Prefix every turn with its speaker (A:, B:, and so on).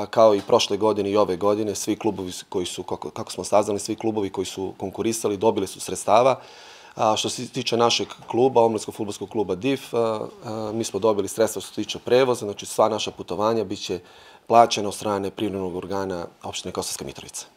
A: kao i prošle godine i ove godine, svi klubovi koji su, kako smo saznali, svi klubovi koji su konkurisali dobili su sredstava. Što se tiče našeg kluba, Omladinskog fudbalskog kluba DIF, mi smo dobili sredstva što se tiče prevoza, znači sva naša putovanja bit će plaćena od strane privremenog organa opštine Kosovska Mitrovica.